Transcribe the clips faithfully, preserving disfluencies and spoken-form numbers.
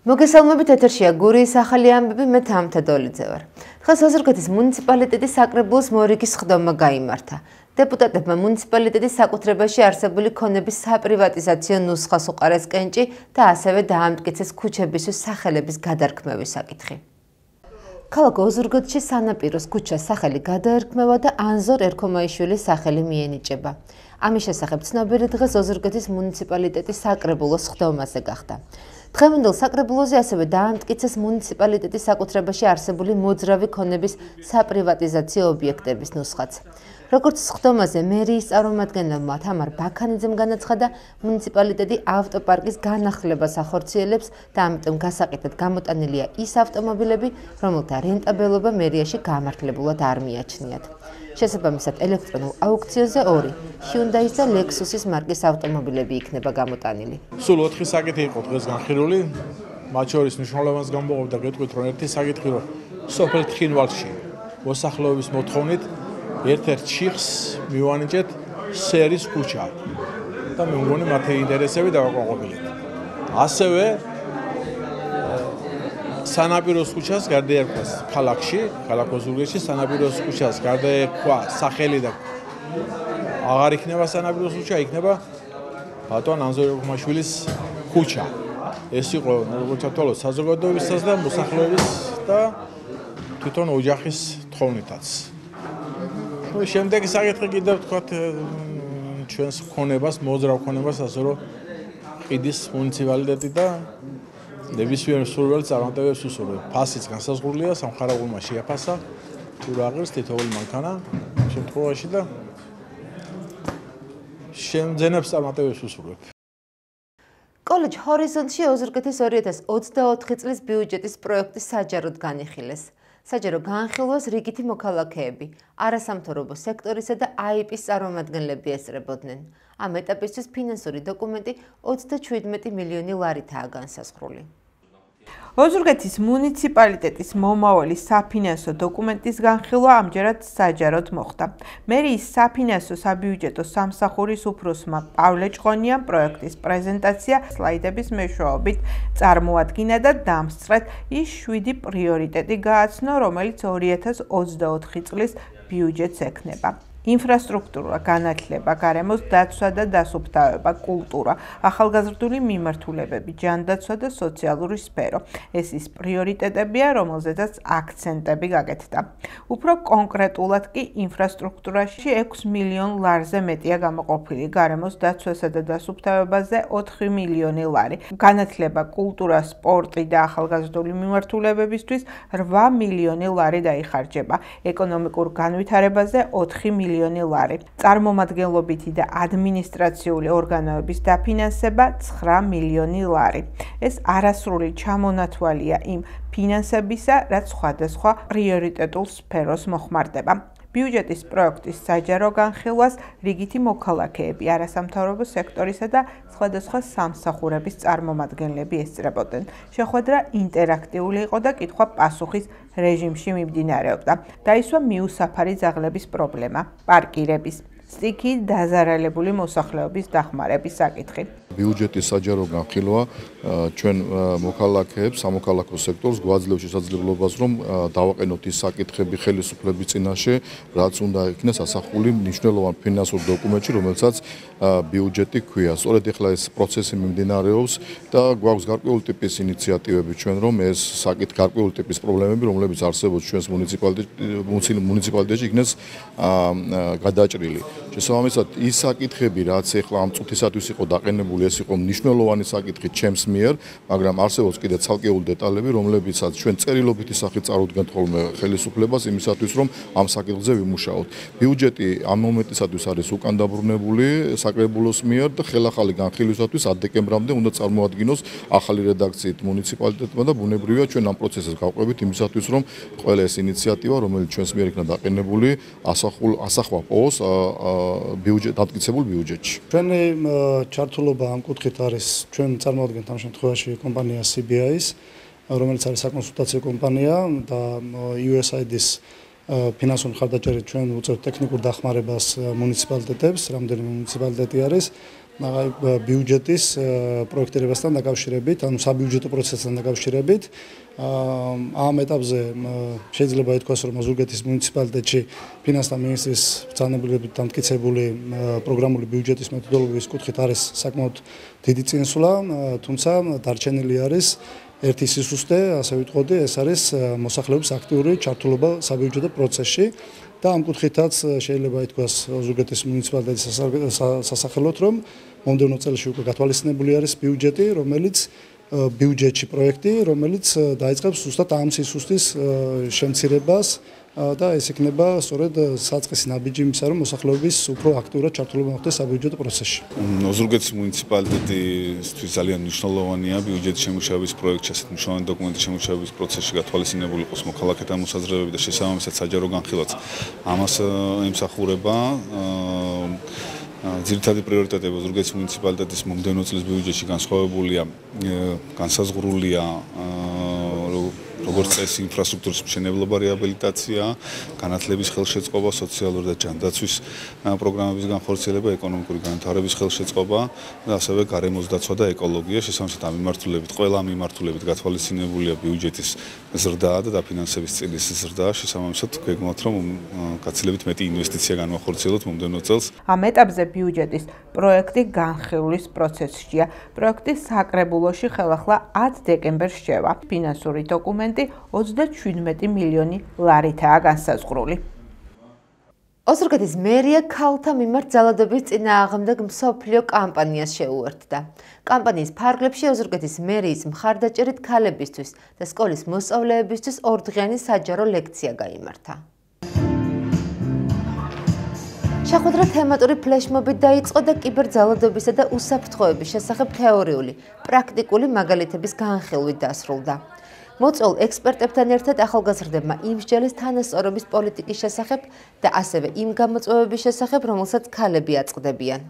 მოგესალმებით, ეთერშია გურიის ახალი ამბები, მე თამთა დოლიძე ვარ. დღეს ოზურგეთის მუნიციპალიტეტის საკრებულოს მორიგის ხდომა გაიმართა. დეპუტატებმა მუნიციპალიტეტის საკუთრებაში არსებული ქონების საპრივატიზაციო ნუსხას უყარეს კენჭი და ასევე დაამტკიცეს ქუჩებისთვის სახელების გადარქმევის საკითხი. ქალაქ ოზურგეთში სანაპიროს ქუჩას სახელი გადაერქმევა და ანზორ ერქომაიშვილის სახელი მიენიჭება. ამის შესახებ ცნობილი დღეს ოზურგეთის მუნიციპალიტეტის საკრებულოს ხდომაზე გახდა. დღევანდელ საკრებულოზე ასევე დაამტკიცეს მუნიციპალიტეტის საკუთრებაში არსებული მოძრავი ქონების საპრივატიზაციო ობიექტების ნუსხაც. როგორც ხდომაზე მერიის წარმომადგენელმა თამარ ბაქანიძემ განაცხადა, მუნიციპალიტეტი ავტოპარკის განახლებას ახორციელებს და ამიტომ გასაყიდად გამოტანილია ის ავტომობილები, რომელთა რენტაბელობა მერიაში გამართლებულად არ მიაჩნიათ. შესაბამისად, ელექტრონულ აუქციონზე ორი ჰიუნდაის და ლექსუსის მარკის ავტომობილები იქნება გამოტანილი. სულ ოთხი საკითხი იყო დღეს განხილული, მათ შორის მნიშვნელოვანს გამოვიდა გეტყვით, რომ ერთი საკითხი რომ სოფელ თხინვალში მოსახლეობის მოთხოვნით ერთ-ერთ ჩიხს მივანიჭეთ სერის ქუჩა და მე მგონი მათი ინტერესები დავაკმაყოფილეთ. ასევე სანაპიროს ქუჩას გარდაერქვა ქალაქში, ქალაქ ოზურგეთში სანაპიროს ქუჩას გარდაერქვა სახელი და აღარ იქნება სანაპიროს ქუჩა, იქნება ბატონ ანზორ ერქომაშვილის ქუჩა. ეს იყო როგორც თვალო საზოგადოებისას და მოსახლეობის და თვითონ ოჯახის თხოვნითაც. შემდეგი საკითხი კიდევ ვთქვათ ჩვენს ქონებას, მოძრავ ქონებას, ასე რომ ყიდის მუნიციპალიტეტი და ნებისმიერ სურვილს წარმატებებს უსურვებს. ფასიც განსაზღვრულია, სამხარაგულმა შეაფასა, თუ რა ღირს თითოეული მანქანა შემთხვევაში და შემძენებს წარმატებებს უსურვებს. კოლეჯ ჰორიზონტში ოზურგეთის ორი ათას ოცდაოთხი წლის ბიუჯეტის პროექტი საჯაროდ განიხილეს. საჯარო განხილვას რიგითი მოქალაქეები, არასამთავრობო სექტორისა და აიპის წარმომადგენლები ესწრებოდნენ. ამ ეტაპისთვის ფინანსური დოკუმენტი ოცდაჩვიდმეტი მილიონი ლარითაა განსაზღვრული. ოზურგეთის მუნიციპალიტეტის მომავალი საფინანსო დოკუმენტის განხილვა ამჯერად საჯაროდ მოხდა. მერიის საფინანსო საბიუჯეტო სამსახურის უფროსმა პავლე ჭყონიამ პროექტის პრეზენტაცია სლაიდების მეშვეობით წარმოადგინა და დამსწრეთ ის შვიდი პრიორიტეტი გააცნო, რომელიც ორი ათას ოცდაოთხი წლის ბიუჯეტს ექნება. ინფრასტრუქტურა, განათლება, გარემოს დაცვა და დასუფთავება, კულტურა, ახალგაზრდული მიმართულებები, ჯანდაცვა და სოციალური სფერო. ეს ის პრიორიტეტებია, რომელზედაც აქცენტები გაკეთდა. უფრო კონკრეტულად კი ინფრასტრუქტურაში ექვს მილიონ ლარზე მეტია გამოყოფილი, გარემოს დაცვასა და დასუფთავებაზე ოთხი მილიონი ლარი, განათლება, კულტურა, სპორტი და ახალგაზრდული მიმართულებებისთვის რვა მილიონი ლარი დაიხარჯება, ეკონომიკურ განვითარებაზე ოთხი მილიონი ლარი. წარმომადგენლობითი და ადმინისტრაციული ორგანოების დაფინანსება ცხრა მილიონი ლარი. ეს არასრული ჩამონათვალია იმ ფინანსებისა, რაც სხვადასხვა პრიორიტეტულ სფეროს მოხმარდება. ბიუჯეტის პროექტის საჯარო განხილვას რიგითი მოქალაქეები, არასამთავრობო სექტორისა და სხვადასხვა სამსახურების წარმომადგენლები ესწრებოდნენ. შეხვედრა ინტერაქტიული იყო და კითხვა-პასუხის რეჟიმში მიმდინარეობდა. დაისვა მიუსაფარი ძაღლების პრობლემა, პარკირების, სტიქიით დაზარალებული მოსახლეობის დახმარების საკითხი. ბიუჯეტის საჯარო განხილვა ჩვენ მოქალაქეებს, სამოქალაქო სექტორს გვაძლევს შესაძლებლობას, რომ დავაყენოთ ის საკითხები ხელისუფლების წინაშე, რაც უნდა იქნას ასახული მნიშვნელოვან ფინანსურ დოკუმენტში, რომელსაც ბიუჯეტი ჰქვია. სწორედ ეხლა ეს პროცესი მიმდინარეობს და გვაქვს გარკვეული ტიპის ინიციატივები ჩვენ, რომ ეს საკითხი გარკვეული ტიპის პრობლემები, რომლებიც არსებობს ჩვენს მუნიციპალიტეტში, იქნეს გადაჭრილი. შესაბამისად, ის საკითხები, რაც ეხლა ამ წუთისათვის იყო დაყენებული, ეს იყო მნიშვნელოვანი საკითხი ჩემს მიერ, მაგრამ არსებობს კიდე ცალკეული დეტალები, რომლებიცაც ჩვენ წერილობითი სახით წარუდგენთ ხოლმე ხელისუფლებას იმისათვის, რომ ამ საკითხზე ვიმუშაოთ. ბიუჯეტი ამ მომენტისათვის არის უკან დაბრუნებული საკრებულოს მიერ და ხელახალი განხილვისათვის ათ დეკემბრამდე უნდა წარმოადგინოს ახალი რედაქციით მუნიციპალიტეტმა და ბუნებრივია ჩვენ ამ პროცესს გავყვებით იმისათვის, რომ ყველა ეს ინიციატივა, რომელიც ჩვენს მიერ იქნა დაყენებული, ასახვა პოვოს ბიუჯეტ დადგმებულ ბიუჯეტში. ჩვენი ჩართულობა ამ კუთხით არის ჩვენ წარმოადგენთ ამ შემთხვევაში კომპანია სი ბი აის, რომელიც არის საკონსულტაციო კომპანია და იუ ეს აი დის ფინანსური მხარდაჭერით ჩვენ უწევთ ტექნიკურ დახმარებას მუნიციპალიტეტებს, რამდენიმე მუნიციპალიტეტი არის ბიუჯეტის პროექტირებასთან დაკავშირებით, ანუ საბიუჯეტო პროცესთან დაკავშირებით. ამ ეტაპზე შეიძლება ითქვას, რომ ოზურგეთის მუნიციპალიტეტში ფინანსთა მინისტრის ბრძანებულებით დამტკიცებული პროგრამული ბიუჯეტის მეთოდოლოგიის კუთხით არის საკმაოდ დიდი წინსვლა, თუმცა დარჩენილი არის ერთი სისუსტე, ასე ვიტყოდი, ეს არის მოსახლეობის აქტიური ჩართულობა საბიუჯეტო პროცესში და ამ კუთხითაც შეიძლება ითქვას ოზურგეთის მუნიციპალიტეტის სასახელოდ, რომ მომდევნო წელში უკვე გათვალისწინებული არის ბიუჯეტი, რომელიც ბიუჯეტში პროექტი, რომელიც დაიწყებს ზუსტად ამ სისუსტის შემცირებას და ეს იქნება სწორედ საწყისი ნაბიჯი იმისა, რომ მოსახლეობის უფრო აქტიურად ჩართულობა მოხდეს საბიუჯეტო პროცესში. ოზურგეთის მუნიციპალიტეტისთვის ძალიან მნიშვნელოვანია ბიუჯეტის შემუშავების პროექტში, ასეთ მნიშვნელოვანი დოკუმენტის შემუშავების პროცესში გათვალისწინებული იყოს მოქალაქეთა მოსაზრებები და შესაბამისად საჯარო განხილვაც ამას ემსახურება. ძირითადი პრიორიტეტები ოზურგეთის მუნიციპალიტეტის მომდევნო წლის ბიუჯეტში განსხვავებულია, განსაზღვრულია როგორც წესი ინფრასტრუქტურის მშენებლობა, რეაბილიტაცია, განათლების ხელშეწყობა, სოციალური და ჯანდაცვის პროგრამების განხორციელება, ეკონომიკური განვითარების ხელშეწყობა და ასევე გარემოს დაცვა და ეკოლოგია. შესაბამისად ამ მიმართულებით, ყველა მიმართულებით გათვალისწინებულია ბიუჯეტის ზრდა და დაფინანსების წილის ზრდა. შესაბამისად გვეგმოთ, რომ გაცილებით მეტი ინვესტიცია განვახორციელოთ მომდევნო წელს. ამ ეტაპზე ბიუჯეტის პროექტი განხილვის პროცესშია. პროექტის საკრებულოში ხელახლა ათი დეკემბერს შევა. ფინანსური დოკუმენტი ოცდაშვიდმეტი მილიონი ლარითაა განსაზღვრული. ოზურგეთის მერია ქალთა მიმართ ძალადობის წინააღმდეგ მსოფლიო კამპანიას შეუერთდა. კამპანიის ფარგლებში ოზურგეთის მერიის მხარდაჭერით ქალებისთვის და სკოლის მოსწავლეებისთვის ორდღიანი საჯარო ლექცია გაიმართა. შეხვედრა თემატური ფლეშმობით დაიწყო და კიბერძალადობისა და უსაფრთხოების შესახებ თეორიული, პრაქტიკული მაგალითების განხილვით დასრულდა. მოწვეულ ექსპერტებთან ერთად ახალგაზრდებმა იმსჯელის თანასწორობის პოლიტიკის შესახებ და ასევე იმ გამოწვევების შესახებ, რომელსაც ქალები აწყდებიან.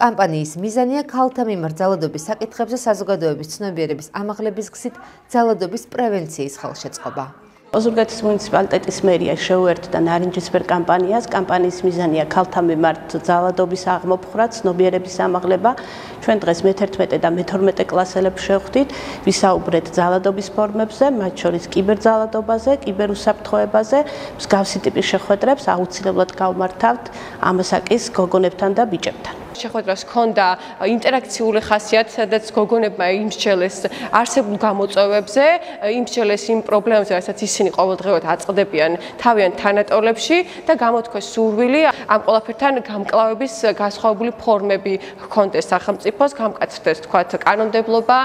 კამპანიის მიზანია ქალთა მიმართ ძალადობის საკითხებზე საზოგადოების ცნობიერების ამაღლების გზით ძალადობის პრევენციის ხელშეწყობა. ოზურგეთის მუნიციპალიტეტის მერია შეუერთდა ნარინჯისფერ კამპანიას. კამპანიის მიზანია ქალთა მიმართ ძალადობის აღმოფხვრა, ცნობიერების ამაღლება. ჩვენ დღეს მეთერთმეტე და მეთორმეტე კლასელებს შევხვდით, ვისაუბრეთ ძალადობის ფორმებზე, მათ შორის კიბერძალადობაზე, კიბერუსაფრთხოებაზე. მსგავსი ტიპის შეხვედრებს აუცილებლად გავმართავთ ამასაკის გოგონებთან და ბიჭებთან. შეხვედრას ჰქონდა ინტერაქციული ხასიათი, სადაც გოგონებმა იმსჯელეს არსებულ გამოწვევებზე, იმსჯელეს იმ პრობლემებზე, რასაც ისინი ყოველდღიურად აწყდებიან თავიანთ თანატოლებში და გამოთქვეს სურვილი ამ ყველაფერთან გამკლავების განსხვავებული ფორმები ჰქონდეს სახელმწიფოს, გამკაცრდეს თქვათ კანონმდებლობა,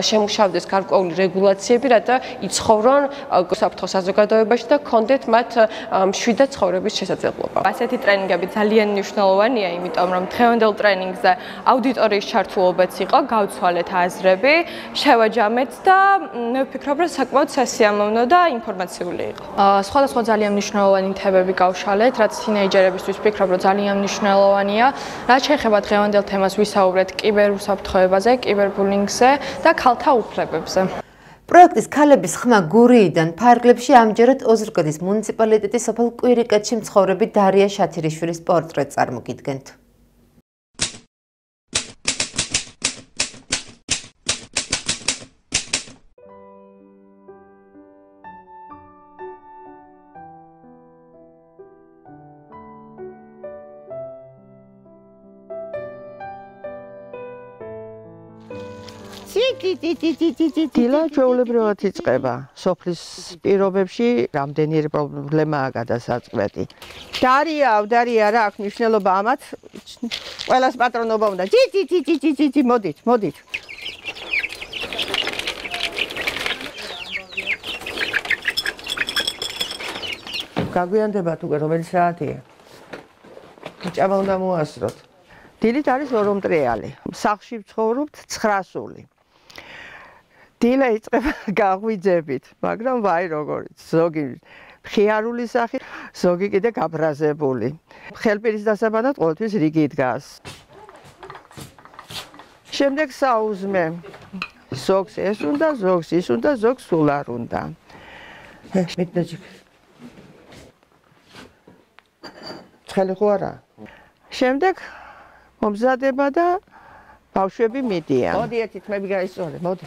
შემუშავდეს გარკვეული რეგულაციები, რათა იცხოვრონ უსაფრთხო საზოგადოებაში და ჰქონდეთ მათ მშვიდად ცხოვრების შესაძლებლობა. ასეთი ტრენინგები ძალიან მნიშვნელოვანია, იმიტომ რომ დღევანდელ ტრენინგზე აუდიტორიის ჩართულობაც იყო, გავცვალეთ აზრები, შევაჯამეთ და მე ვფიქრობ, რომ საკმაოდ სასიამოვნო და ინფორმაციული იყო. სხვადასხვა ძალიან მნიშვნელოვანი თემები გავშალეთ, რაც თინეიჯერებისთვის ვფიქრობ, რომ ძალიან მნიშვნელოვანია. რაც შეეხება დღევანდელ თემას ვისაუბრეთ კიბერუსაფრთხოებაზე, კიბერბულინგზე და ქალთა უფლებებზე. პროექტის ქალების ხმა გურიიდან ფარგლებში ამჯერად ოზურგეთის მუნიციპალიტეტის სოფელ კვირიკეთში მცხოვრები დარია შათირიშვილის პორტრეტს წარმოგიდგენთ. დილა ჩვეულებრივად იწყება. სოფლის პირობებში რამდენიმე პრობლემაა გადასაწყვეტი. დარია, დარია რა აქვს მნიშვნელობა ამათ? ყველას პატრონობა უნდა. ჯი ჯი ჯი ჯი ჯი ჯი მოდით, მოდით. გაგვიანდებათ უკვე რომელი საათია? ჭამა უნდა მოასწროთ. დილით არის ორომტრიალი. სახლში ვცხოვრობთ ცხრასული. დილა იწყება გაღვიძებით, მაგრამ ვაი როგორიც, ზოგი მხიარული სახი, ზოგი კიდე გაბრაზებული. ხელპირის დასაბანად ყოველთვის რიგი დგას. შემდეგ საუზმე. ზოგს ეს უნდა, ზოგს ის უნდა, ზოგს სულ არ უნდა. მეტნაჯი. ცხელი ხო არა? შემდეგ მომზადება და ბავშვები მიდიან. მოდი ერთი თმები გაისწორე, მოდი.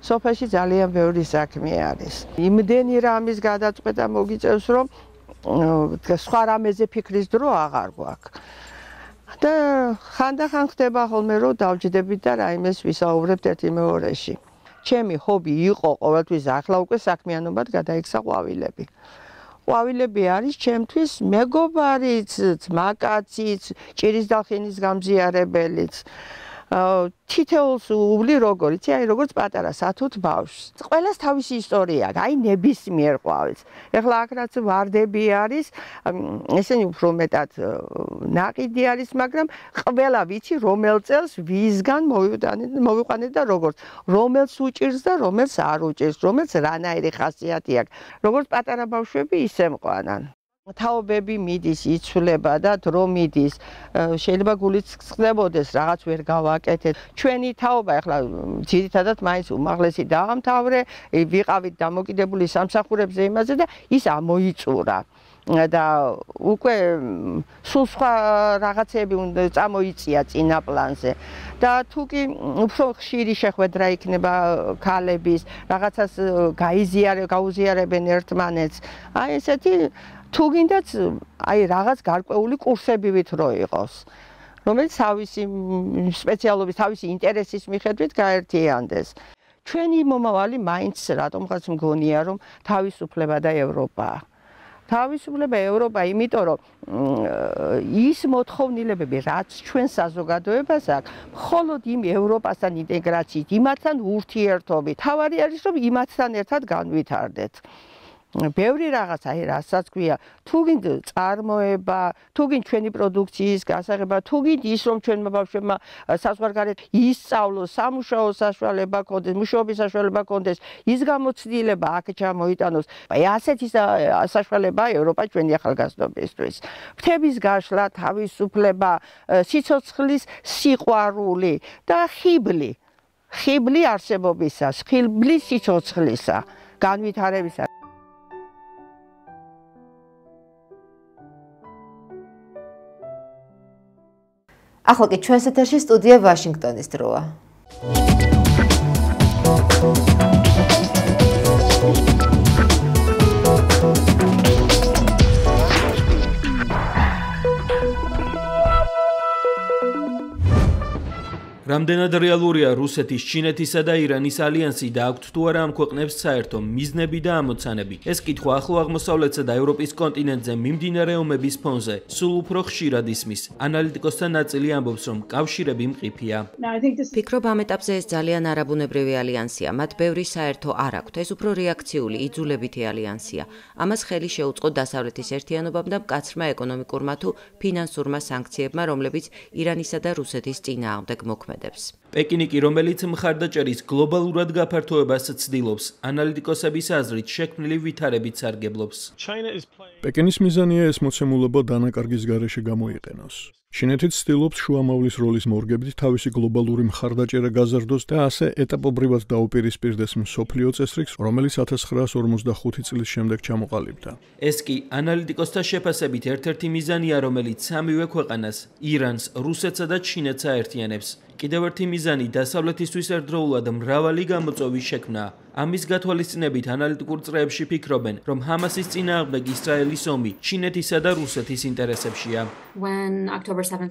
სოფელში ძალიან ბევრი საქმე არის. იმდენი რამის გადაწყვეტა მოგიწევს, რომ სხვა რამეზე ფიქრის დრო აღარ გვაქვს. და ხანდახან ხდება ხოლმე, რომ დავჯდებით და რაიმეს ვისაუბრებთ ერთი მეორეში. ჩემი ჰობი იყო ყოველთვის ახლა უკვე საქმიანობად გადაიქცა ყვავილები. ყვავილები არის ჩემთვის მეგობარიც, ძმაკაციც, ჭირის დალხინის გამზიარებელიც. თითოეულს უვლი როგორ იცი, აი როგორც პატარა სათუთ ბავშვს. ყველას თავისი ისტორია აქვს, აი ნებისმიერ ყვავილს. ეხლა აქ რაც ვარდები არის, ესენი უფრო მეტად ნაყიდი არის, მაგრამ ყველა ვიცი რომელ წელს ვისგან მოვიყვანეთ და როგორც, რომელს უჭირს და რომელს არ უჭირს, რომელს რანაირი ხასიათი აქვს. როგორც პატარა ბავშვები ისე მყვანან. თაობები მიდის, იცვლება და დრო მიდის. შეიძლება გულიც ხდებოდეს, რაღაც ვერ გავაკეთეთ. ჩვენი თაობა ახლა ძირითადად მაინც უმაღლესი დაამთავრე, ვიყავით დამოკიდებული სამსახურებზე იმაზე და ის ამოიწურა. და უკვე სულ სხვა რაღაცები უნდა წამოიწია წინა პლანზე. და თუ კი უფრო ხშირი შეხვედრა იქნება ქალების, რაღაცას გაიზიარე, გაუზიარებენ ერთმანეთს. აი ესეთი თუ გინდაც აი რაღაც გარკვეული კურსებივით რო იყოს, რომელიც თავისი სპეციალობის, თავისი ინტერესის მიხედვით გაერთიანდეს. ჩვენი მომავალი მაინც რატომღაც მგონია, რომ თავისუფლება და ევროპაა. თავისუფლება ევროპა, იმიტომ რომ ის მოთხოვნილებები, რაც ჩვენ საზოგადოებას აქვს, მხოლოდ იმ ევროპასთან ინტეგრაციით, იმათთან ურთიერთობით. თავარი არის, რომ იმათთან ერთად განვითარდეთ. ბევრი რაღაც, აი რასაც ქვია, თუ გინდ წარმოება, თუ გინდ ჩვენი პროდუქციის გასაღება, თუ გინდ ის რომ ჩვენმა ბავშვებმა საზღვარგარეთ ისწავლოს, სამუშაო საშუალება ქონდეს, მუშაობის საშუალება ქონდეს, ის გამოცდილება აქ ჩამოიტანოს. აი ასეთი საშუალება ევროპა ჩვენი ახალგაზრდობისთვის. ფრთების გაშლა, თავისუფლება, სიცოცხლის სიყვარული და ხიბლი. ხიბლი არსებობისა, ხიბლი სიცოცხლისა, განვითარებისა. ახლა კი ჩვენს ეთერში სტუდია ვაშინგტონის დროა. რამდენად რეალურია რუსეთის, ჩინეთისა და ირანის ალიანსი და აქვთ თუ არა ამ ქვეყნებს საერთო მიზნები და ამოცანები? ეს კითხვა ახლო აღმოსავლეთსა და ევროპის კონტინენტზე მიმდინარე ომების ფონზე სულ უფრო ხშირად ისმის. ანალიტიკოსთა ნაწილი ამბობს, რომ კავშირები მყიფია. ფიქრობ ამ ეტაპზე ეს ძალიან არაბუნებრივი ალიანსია. მათ ბევრი საერთო არ აქვთ. ეს უფრო რეაქციული, იძულებითი ალიანსია. ამას ხელი შეუწყო დასავლეთის ერთიანობამ და მკაცრმა ეკონომიკურმა თუ ფინანსურმა სანქციებმა, რომლებიც ირანისა და რუსეთის წინააღმდეგ მოქმედებს. პეკინი კი, რომელიც მხარდაჭერის გლობალურად გაფართოებას ცდილობს, ანალიტიკოსების აზრით შექმნილი ვითარებით სარგებლობს. პეკინის მიზანია ეს მოცემულობა დანაკარგის გარეშე გამოიყენოს. ჩინეთიც ცდილობს შუამავლის როლის მორგებით თავისი გლობალური მხარდაჭერა გაზარდოს და ასე ეტაპობრივად დაუპირისპირდეს მსოფლიო წესრიგს, რომელიც ათას ცხრაას ორმოცდახუთი წლის შემდეგ ჩამოყალიბდა. ეს კი ანალიტიკოსთა შეფასებით ერთ-ერთი მიზანია, რომელიც სამივე ქვეყანას, ირანს, რუსეთსა და ჩინეთს აერთიანებს. კიდევ ერთი მიზანი დასავლეთისთვის ერთდროულად მრავალი გამოწვევის შექმნა. ამის გათვალისწინებით ანალიტიკურ წრეებში ფიქრობენ, რომ ჰამასის წინააღმდეგ ისრაელის ომი ჩინეთისა და რუსეთის ინტერესებშია.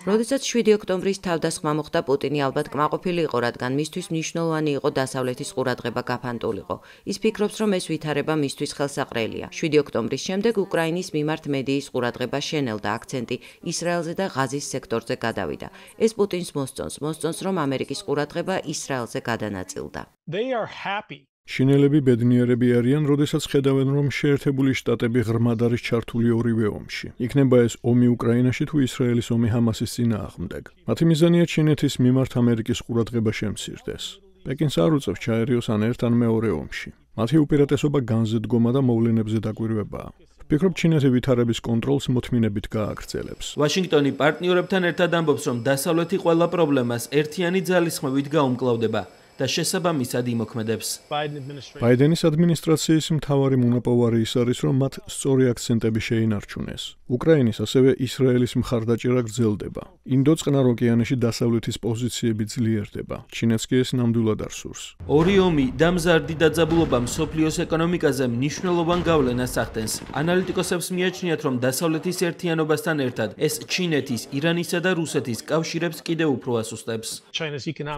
როდესაც შვიდი ოქტომბრის თავდასხმა მოხდა, პუტინი ალბათ კმაყოფილი იყო, რადგან მისთვის მნიშვნელოვანი იყო დასავლეთის ყურადღება გაფანტულიყო. ის ფიქრობს, რომ ეს ვითარება მისთვის ხელსაყრელია. შვიდი ოქტომბრის შემდეგ უკრაინის მიმართ მედიის ყურადღება შენელდა, აქცენტი ისრაელზე და ღაზის სექტორზე გადავიდა. ეს პუტინს მოსწონს, მოსწონს, რომ ამერიკის ყურადღება ისრაელზე გადანაწილდა. ჩინელები ბედნიერები არიან, როდესაც ხედავენ, რომ შეერთებული შტატები ღრმად არის ჩართული ორივე ომში. იქნება ეს ომი უკრაინაში თუ ისრაელის ომი ჰამასის წინააღმდეგ. მათი მიზანია ჩინეთის მიმართ ამერიკის ყურადღება შემცირდეს. პეკინს არ უწევს ჩაერიოს ან ერთ ან მეორე ომში. მათი უპირატესობა განზედგომა და მოვლენებზე დაკვირვებაა. ფიქრობ, ჩინეთი ვითარების კონტროლს მოთმინებით გააგრძელებს. ვაშინგტონი პარტნიორებთან ერთად ამბობს, რომ დასავლეთი ყველა პრობლემას ერთიანი ძალისხმევით გაუმკლავდება. და შესაბამისად იმოქმედებს. ბაიდენის ადმინისტრაციის მთავარი მონოპოვარი ის არის, რომ მათ სწორი აქცენტები შეინარჩუნეს. უკრაინის, ასევე ისრაელის მხარდაჭერა გრძელდება. ინდო წყნარ ოკეანეში დასავლეთის პოზიციები ძლიერდება. ჩინეთს კი ეს ნამდვილად არ სურს. ორი ომი და მზარდი დაძაბულობა მსოფლიოს ეკონომიკაზე მნიშვნელოვან გავლენას ახდენს. ანალიტიკოსებს მიაჩნიათ, რომ დასავლეთის ერთიანობასთან ერთად ეს ჩინეთის, ირანისა და რუსეთის კავშირებს კიდევ უფრო ასუსტებს.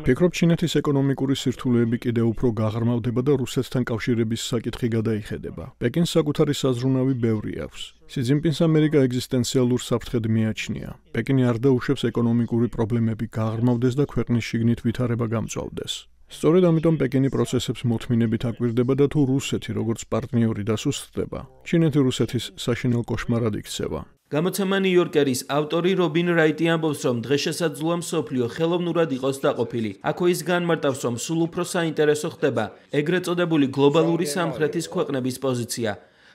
ფიქრობ, ჩინეთის ეკონომიკური სირთულეები კიდევ უფრო გაღრმავდება და რუსეთთან კავშირების საკითხი გადაიხედება. პეკინს საკუთარი საზრუნავი ბევრი აქვს. სი ძინპინს ამერიკა ეგზისტენციალურ საფრთხედ მიაჩნია. პეკინი არ დაუშვებს ეკონომიკური პრობლემები გაღრმავდეს და ქვეყნის შიგნით ვითარება გამწვავდეს. სწორედ ამიტომ პეკინი პროცესებს მოთმინებით აკვირდება და თუ რუსეთი როგორც პარტნიორი დასუსტდება, ჩინეთი რუსეთის საშინელ კოშმარად იქცევა. გამოცემა ნიუ-იორკერის ავტორი რობინ რაიტი ამბობს, რომ დღესასაძულო მსოფლიო ხელოვნურად იყოს დაყოფილი. აქ ის განმარტავს, რომ სულ უფრო საინტერესო ხდება ეგრეთ წოდებული გლობალური სამხრეთის ქვეყნების პოზიცია,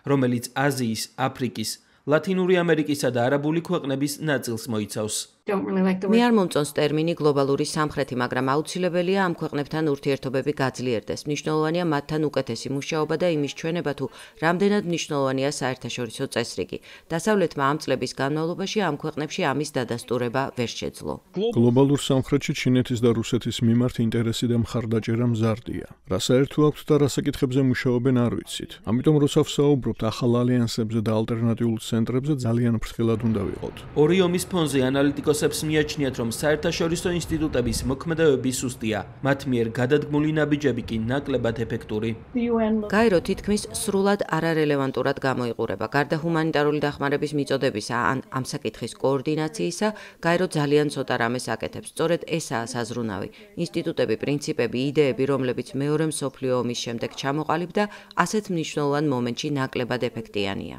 რომელიც აზიის, აფრიკის, ლათინური ამერიკისა და არაბული ქვეყნების ნაწილს მოიცავს. მე არ მომწონს ტერმინი გლობალური სამხრეთი, მაგრამ აუცილებელია ამ ქვეყნებთან ურთიერთობები გაძლიერდეს. მნიშვნელოვანია მათთან უკეთესი მუშაობა და იმის ჩვენება, თუ რამდენად მნიშვნელოვანია საერთაშორისო წესრიგი. დასავლეთმა ამ წლების განმავლობაში ამ ქვეყნებში ამის დადასტურება ვერ შეძლო. გლობალურ სამხრეთში ჩინეთის და რუსეთის მიმართ ინტერესი და მხარდაჭერა მზარდია. რა საერთო აქვთ და რა საკითხებზე მუშაობენ არ ვიცით. ამიტომ როცა ვსაუბრობთ ახალ ალიანსებზე და ალტერნატიულ ცენტრებზე, ძალიან ფრთხილად უნდა ვიყოთ. ორი ომის ფონზე ანალიტიკოსებს მიაჩნიათ, რომ საერთაშორისო ინსტიტუტების მოქმედებები სუსტია. მათ მიერ გადადგმული ნაბიჯები კი ნაკლებად ეფექტური. გაირო თითქმის სრულად არარელევანტურად გამოიყურება. გარდა ჰუმანიტარული დახმარების მიწოდებისა ან ამ საკითხის კოორდინაციისა, გაირო ძალიან ცოტა რამეს აკეთებს. სწორედ ესაა საზრუნავი. ინსტიტუტები, პრინციპები, იდეები, რომლებიც მეორე მსოფლიო ომის შემდეგ ჩამოყალიბდა, ასეთ მნიშვნელოვან მომენტში ნაკლებად ეფექტიანია.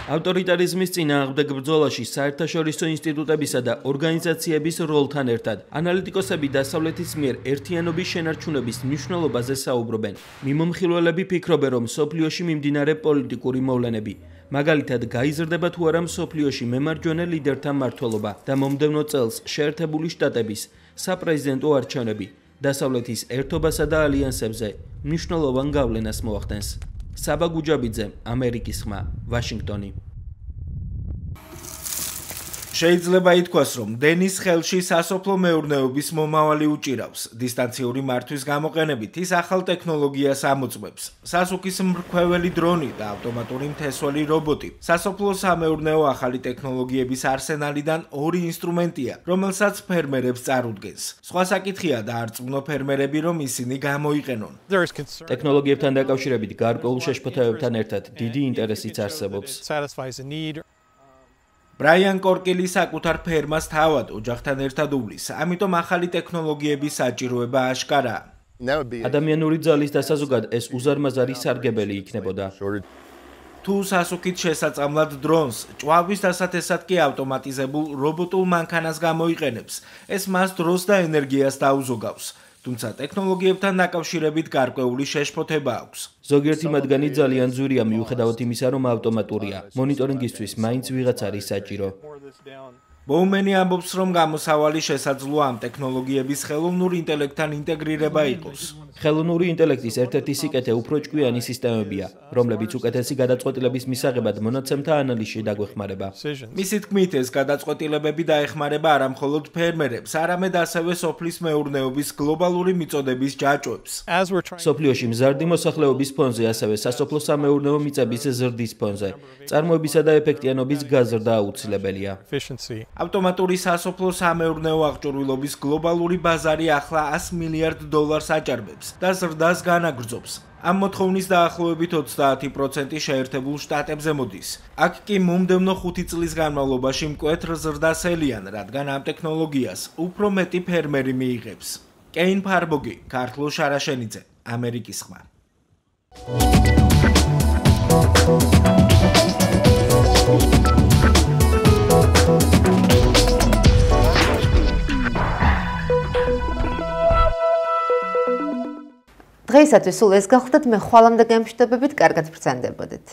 ავტორიტარიზმის წინააღმდეგ ბრძოლაში საერთაშორისო ინსტიტუტებისა და ორგანიზაციების როლთან ერთად ანალიტიკოსები დასავლეთის მიერ ერთიანობის შენარჩუნების მნიშვნელობაზე საუბრობენ. მიმომხილველები ფიქრობენ, რომ მსოფლიოში მიმდინარე პოლიტიკური მოვლენები, მაგალითად გაიზრდება თუ არა მსოფლიოში მემარჯვენე ლიდერთა მმართველობა და მომდევნო წელს შეერთებული შტატების საპრეზიდენტო არჩევნები დასავლეთის ერთობასა და ალიანსებზე მნიშვნელოვან გავლენას მოახდენს. საბა გუჯაბიძე, ამერიკის ხმა, ვაშინგტონი. შეიძლება ითქვას, რომ დენის ხელში სასოფლო მეურნეობის მომავალი უჭირავს. დისტანციური მართვის გამოყენებით ის ახალ ტექნოლოგიას ამოწმებს. სასუქის მრქვეველი დრონი და ავტომატური მთესველი რობოტი. სასოფლო სამეურნეო ახალი ტექნოლოგიების არსენალიდან ორი ინსტრუმენტია, რომელსაც ფერმერებს წარუდგენს. სხვა საკითხია და არწმუნო ფერმერები, რომ ისინი გამოიყენონ. ტექნოლოგიებთან დაკავშირებით გარკვეულ შეშფოთებებთან ერთად დიდი ინტერესიც არსებობს. ბრაიან კორკილი საკუთარ ფერმას თავად ოჯახთან ერთად უვლის, ამიტომ ახალი ტექნოლოგიების საჭიროება აშკარაა. ადამიანური ძალის დასაზოგად ეს უზარმაზარი სარგებელი იქნებოდა. თუ სასუქით შესაწამლად დრონს, ჭვავის დასათესად კი ავტომატიზებულ რობოტულ მანქანას გამოიყენებს. ეს მას დროს და ენერგიას დაუზოგავს. თუმცა ტექნოლოგიებთან დაკავშირებით გარკვეული შეშფოთება აქვს. ზოგიერთი მათგანი ძალიან ძვირია მიუხედავად იმისა, რომ ავტომატურია. მონიტორინგისთვის მაინც ვიღაც არის საჭირო. ბოუმენი ამბობს, რომ გამოსავალი შესაძლოა ამ ტექნოლოგიების ხელოვნურ ინტელექტთან ინტეგრირება იყოს. ხელოვნური ინტელექტის ერთ-ერთი სიკეთე უფრო ჭკვიანი სისტემებია, რომლებიც უკეთესი გადაწყვეტილების მისაღებად მონაცემთა ანალიზში დაგვეხმარება. მისი თქმით, ეს გადაწყვეტილებები დაეხმარება არა მხოლოდ ფერმერებს, არამედ ასევე სოფლის მეურნეობის გლობალური მიწოდების ჯაჭვებს. სოფლიოში მზარდი მოსახლეობის ფონზე, ასევე სასოფლო სამეურნეო მიწების ზრდის ფონზე, წარმოებისა და ეფექტიანობის გაზრდა აუცილებელია. ავტომატური სასოფლო სამეურნეო აღჭურვილობის გლობალური ბაზარი ახლა ას მილიარდ დოლარს აჭარბებს და ზრდას განაგრძობს. ამ მოთხოვნის დაახლოებით ოცდაათი პროცენტი შეერთებულ შტატებზე მოდის. აქ კი მომდევნო ხუთი წლის განმავლობაში მკვეთრ ზრდას ელიან, რადგან ამ ტექნოლოგიას უფრო მეტი ფერმერი მიიღებს. კეინ ფარბოგი, ქართლო შარაშენიძე, ამერიკის ხმა. დღეისათვის სულ ეს გახლდათ, მე ხვალამდე გემშვიდობებით, კარგად ბრძანდებოდეთ.